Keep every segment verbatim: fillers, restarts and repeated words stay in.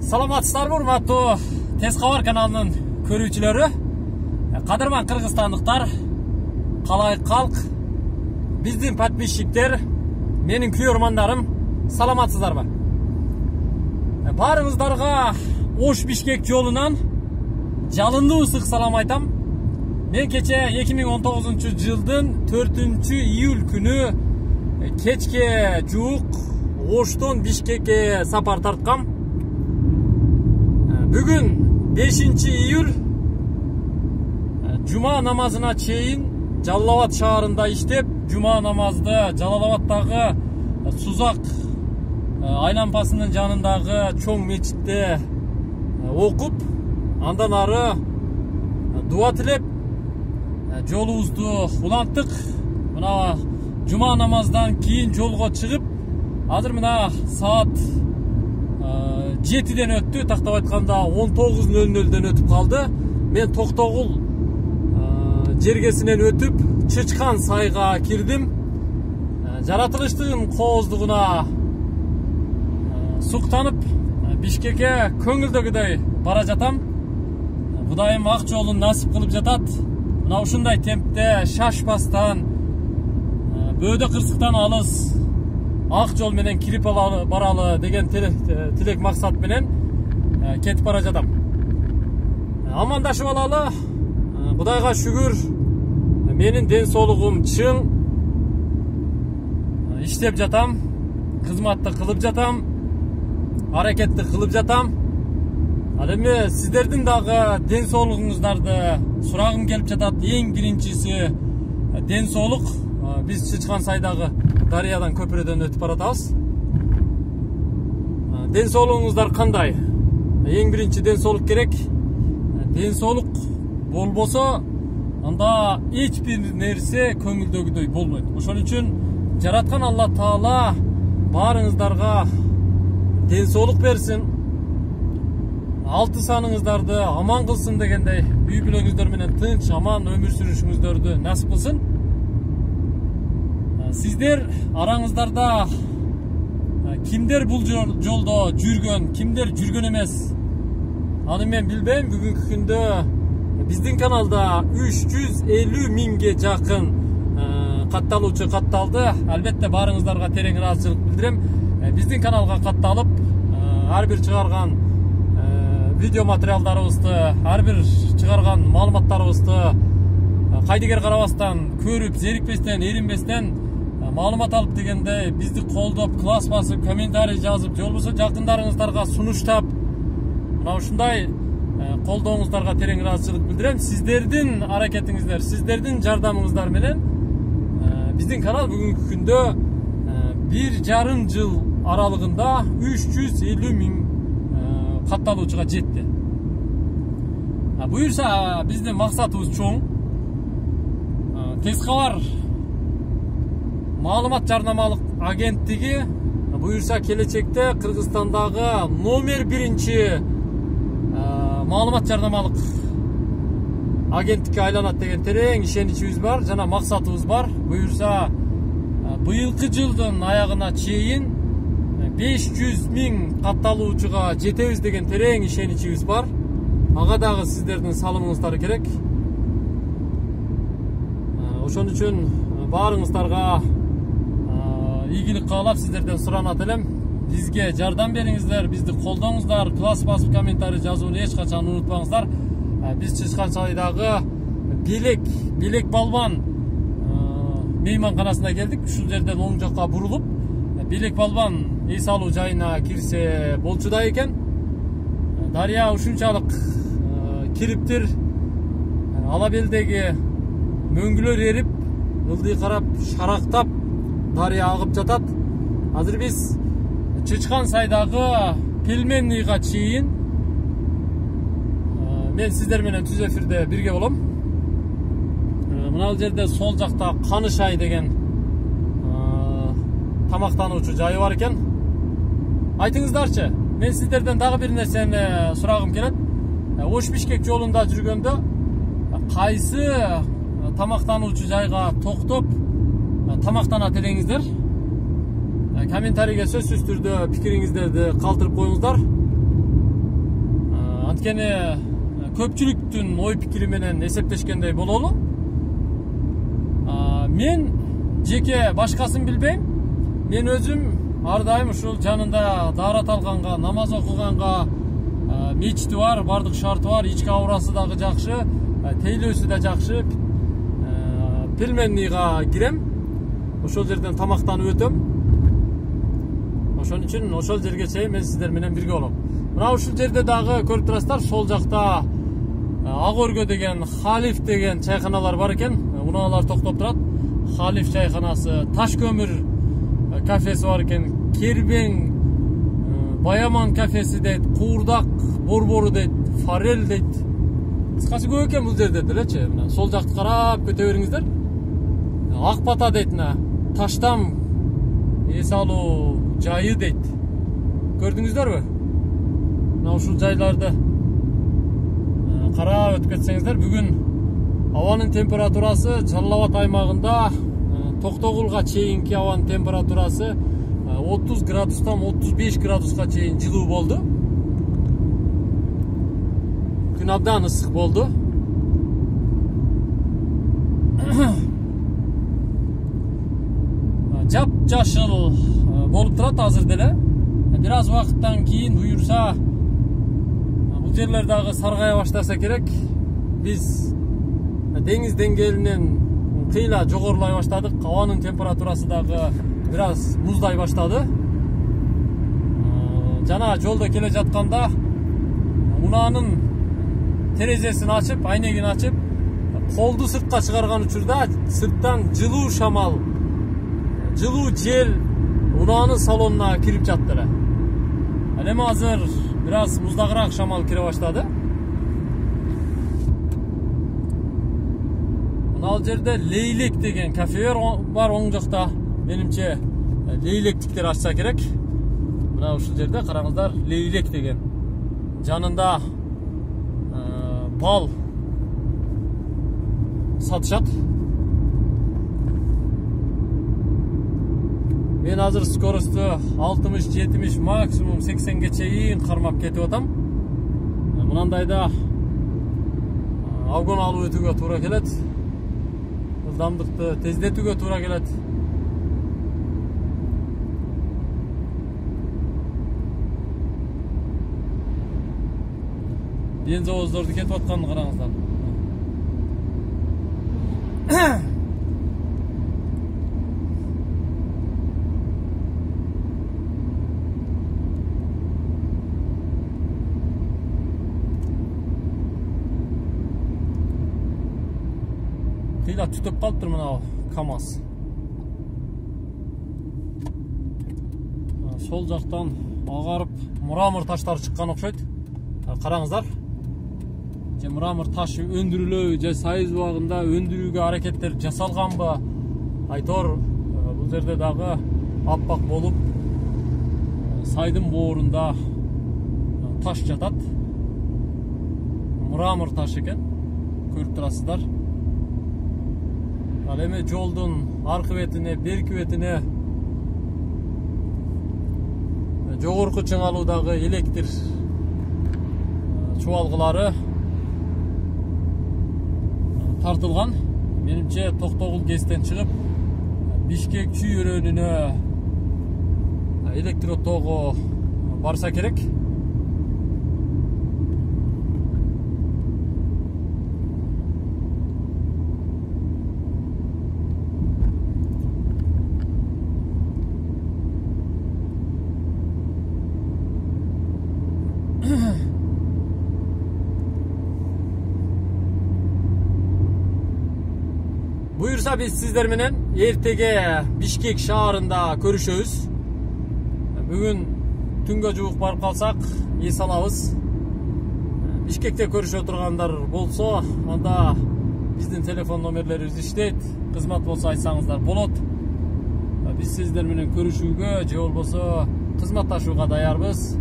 Саламатсыздарбы, урматтуу Тез кабар каналынын көрүүчүлөрү, кадырман кыргызстандыктар, калай калк, биздин подписчиктер, менин күйөрмандарым, саламатсыздарбы? Баарыңыздарга Ош Бишкек жолунан жалындуу ысык салам айтам. Мен кече эки миң он тогузунчу жылдын төртүнчү июль күнү кечке жуук Оштон Бишкекке сапар тарткам. Бүгүн бешинчи июль жума намазына чейин Жалал-Абад шаарында иштеп, жума намазды Жалал-Абадтагы Сузак айланпасынын жанындагы чоң мечитте окуп, андан ары дуа тилеп жолубузду уланттык. Мына жума намаздан кийин жолго чыгып, азыр мына саат жетиден өттү, тактап айтканда он тогуз нөл нөлдөн өтүп калды. Мен Токтогул жергесинен өтүп, Чычкан сайга кирдим. Жаратылыштын кооздугуна суктанып, Бишкекке көңүлдөгүдөй бара жатам. Кудайым ак жолун насип кылып жатат. Мына ушундай темпте шашпастан, бөөдө кырсыктан алыс ак жол менен кирип баралы деген тилек максат менен кетип бара жатам. Амандашып алалы. Кудайга шүгүр, менин ден соолугум чың, иштеп жатам, кызматты кылып жатам, аракетти кылып жатам. Ал эми сиздердин дагы ден соолугуңуздарды сурагым келип жатат. Эң биринчиси ден соолук. Биз Чычкан сайдагы дарыядан көпүрөдөн өтүп баратабыз. Ден соолугуңуздар кандай? Эң биринчи ден соолук керек. Ден соолук болбосо, анда эч бир нерсе көңүлдөгүдөй болбойт. Ошон үчүн жараткан Алла Таала баарыңыздарга ден соолук берсин, алты саныңыздарды аман кылсын дегендей, үй бүлөңүздөр менен тынч, аман өмүр сүрүшүңүздөрдү насип кылсын. Сиздер араңыздарда кимдер бул жолдо жүргөн, кимдер жүргөн эмес, аны мен билбейм. Бүгүнкү күндө биздин каналда үч жүз элүү миңге жакын катталуучу катталды. Албетте баарыңыздарга терең ыраазычылык билдирем. Биздин каналга катталып, ар бир чыгарган видео материалдарыбызды, ар бир чыгарган маалыматтарыбызды кайдыгер карабастан, көрүп, зерикпестен, эринбестен маалымат алып дегенде бизди колдоп, класс басып, комментарий жазып, же болбосо жакындарыңыздарга сунуштап, мына ушундай колдооңуздарга терең ыраазычылык билдирем. Сиздердин аракетиңиздер, сиздердин жардамыңыздар менен биздин канал бүгүнкү күндө бир жарым жыл аралыгында үч жүз элүү миң катталуучуга жетти. Буюрса биздин максатыбыз чоң. Тез кабар маалымат жарнамалык агенттиги буюрса келечекте Кыргызстандагы номер биринчи маалымат жарнамалык агенттикке айланат деген терең ишеничибиз бар, жана максатыбыз бар. Буюрса быйылкы жылдын аягына чейин беш жүз миң катталуучуга жетебиз деген терең ишеничибиз бар. Ага дагы сиздердин салымыңыздар керек. Ошон үчүн баарыңыздарга ийгилик каалап сиздерден суранат элем. Бизге жардам бериңиздер, бизди колдоңуздар, класс басып комментарий жазууну эч качан унутпаңыздар. Биз Чычкан сайдагы Белек, Белек Балбан мейманканасына келдик. Ушул жерден оң жакка бурулуп, Белек Балбан эс алуу жайына кирсе болчуда экен. Дарыя ушунчалык кириптир, ала белдеги мөңгүлөр эрип, ылдый карап, шарактап дарыя агып жатат. Азыр биз Чычкан сайдагы Пельменныйга чейин мен сиздер менен түз эфирде бирге болом. Мына жерде сол жакта Канышай деген тамактануучу жайы бар экен. Айтыңыздарчы, мен сиздерден дагы бир нерсени сурагым келет. Ош Бишкек жолунда жүргөндө кайсы тамактануучу жайга токтоп тамактанат элеңиздер? комментарийге сөзсүз түрдө пикириңиздерди калтырып коюңуздар. Анткени көпчүлүктүн ой пикири менен эсептешкендей бололу. Мен жеке башкасын билбейм. Мен өзүм ар дайым ушул жанында даарат алганга, намаз окуганга, мечити бар, бардык шарты бар, ички аурасы дагы жакшы, тейлөөсү да жакшы. Пельменныйга кирем. Ошол жерден тамактанып өтөм. Ошон үчүн ошол жерге чейин мен сиздер менен бирге болом. Мына ушул жерде дагы көрүп турасыздар, сол жакта Ак өргө деген Халиф деген чайканалар бар экен. Унаалар токтоп турат. Халиф чайканасы, Таш көмүр кафеси бар экен, Кербең, Баяман кафеси дейт, Куурдак борбору дейт, Форель дейт. Кыскасы көп экен бул жерде делечи. Мына сол жакты карап көтө бериңиздер. Ак бата дейт, мына Таштам эс алуу жайы дейт. Көрдүңүздөрбү? Мына ушул жайларды карап өтүп кетсеңиздер, бүгүн абанын температурасы Жалал Абад аймагында Токтогулга чейинки абанын температурасы отуз градустан отуз беш градуска чейин жылуу болду. Күн абдан ысык болду. Жап жашыл болуп турат азыр деле. Бир аз убакыттан кийин буюрса бул жерлер дагы саргая баштаса керек. Биз деңиз деңгээлинен кыйла жогорулай баштадык. Абанын температурасы дагы бир аз муздай баштады. Жана жолдо келе жатканда унаанын терезесин ачып, айнегин ачып, колду сыртка чыгарган учурда сырттан жылуу шамал, жылуу жел унаанын салонуна кирип жатты эле. Ал эми азыр бир аз муздагыраак шамал кире баштады. Ал жерде Лейлек деген кафе бар оң жакта. Менимче Лейлектиктер ачса керек. Мына ушул жерде караңыздар, Лейлек деген. Жанында бал сатышат. Мен азыр скоросту алтымыш, жетимиш, максимум сексенге чейин кармап кетип атам. Мынандайда обгон алып өтүүгө туура келет. Ылдамдыкты тездетүүгө туура келет. Бензовоздорду кетип атканын караңыздар. Кыйла түтөп калыптыр мына КамАЗ. Сол жактан агарып мрамор таштары чыккан окшойт. Караңыздар. Же мрамор ташы өндүрүлөбү, же сайыз убагында өндүрүүгө аракеттер жасалганбы? Айтор бул жерде дагы аппак болуп, сайдын боорунда таш жатат. Мрамор таш экен. Көрүп турасыздар. Ал эми жолдун аркы бетине, берки бетине жогорку чыңалуудагы электр чубалгылары тартылган. Менимче Токтогул ГЭСтен чыгып Бишкек чүйөрөнүнө электр тогу барса керек. Буюрса биз сиздер менен эртеге Бишкек шаарында көрүшөбүз. Бүгүн түнгө жуук барып калсак, эс алабыз. Бишкекте көрүшө тургандар болсо, анда биздин телефон номерлерибиз иштейт. Кызмат болсо айтсаңыздар болот. Биз сиздер менен көрүшүүгө же болбосо кызматташууга даярбыз.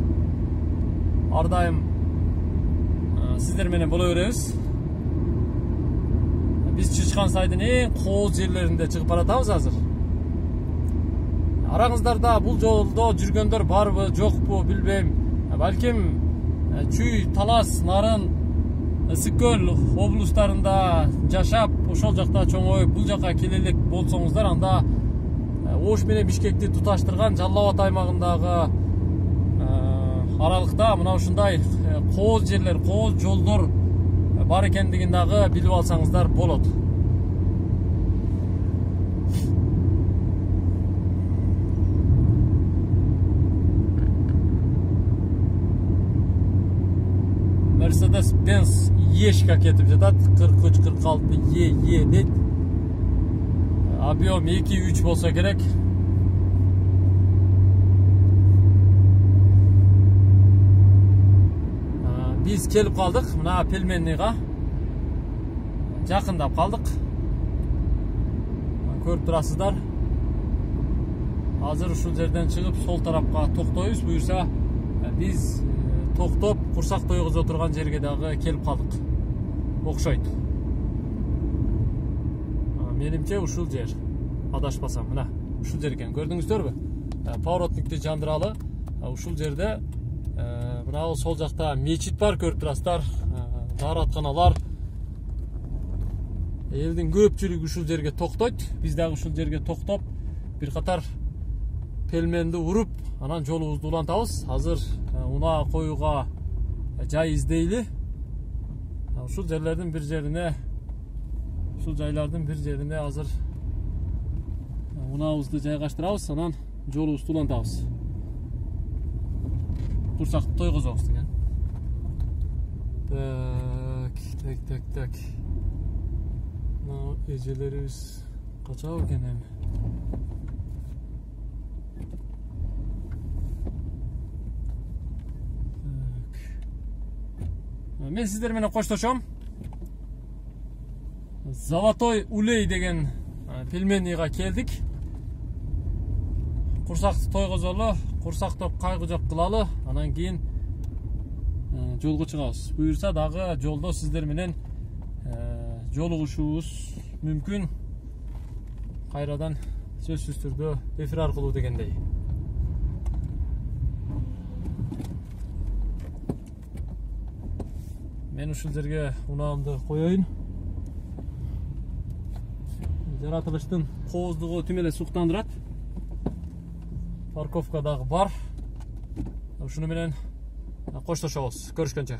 Ар дайым сиздер менен боло беребиз. Биз Чычкан сайдын эң кооз жерлеринде чыгып баратабыз азыр. Араңыздарда бул жолдо жүргөндөр барбы, жокпу билбейм. Балким Чүй, Талас, Нарын, Ысык көл облустарында жашап, ошол жакта чоңоюп, бул жака келе элек болсоңуздар, анда Ош менен Бишкекти туташтырган Жалал Абад аймагындагы аралыкта мына ушундай кооз жерлер, кооз жолдор бар экендигин дагы билип алсаңыздар болот. Mercedes-Benz Ешка кетип жатат, кырк үч кырк алты Е Е дейт. Объем эки үч болсо керек. Биз келип калдык мына Пельменныйга. Жакындап калдык. Көрүп турасыздар. Азыр ушул жерден чыгып сол тарапка токтойбуз. Буюрса биз токтоп курсак тойгузо турган жерге дагы келип калдык. Окшойт. Менимче ушул жер. Адашпасам, мына ушул жер экен. Көрдүңүздөрбү? Поворотникти жандыралы. Ушул жерде мына сол жакта мечит бар, көрүп турасыздар. Дааратканалар. Элдин көпчүлүгү ушул жерге токтойт. Биз дагы ушул жерге токтоп, бир катар пельменди уруп, анан жолубузду улантабыз. Азыр унаа коюуга жай издейли. Ушул жерлердин бир жерине, ушул жайлардын бир жерине азыр унаабызды жайгаштырабыз, анан жолубузду улантабыз. Курсакты тойгузабыз деген. Так, так, так, так. Мына эжелерибиз качабы экен эми? Мен сиздер менен коштошом. Золотой улей деген Пельменныйга келдик. Курсакты тойгузолу, курсактоп кайгы жок кылалы, анан кийин жолго чыгабыз. Буюрса дагы жолдо сиздер менен жолугушуубуз мүмкүн. Кайрадан сөзсүз түрдө эфир аркылуу дегендей. Мен ушул жерге унаамды коёюн. Жаратылыштын кооздугу тим эле суктандырат. Парковка дагы бар. Ушуну менен коштошобуз. Көрүшкөнчө.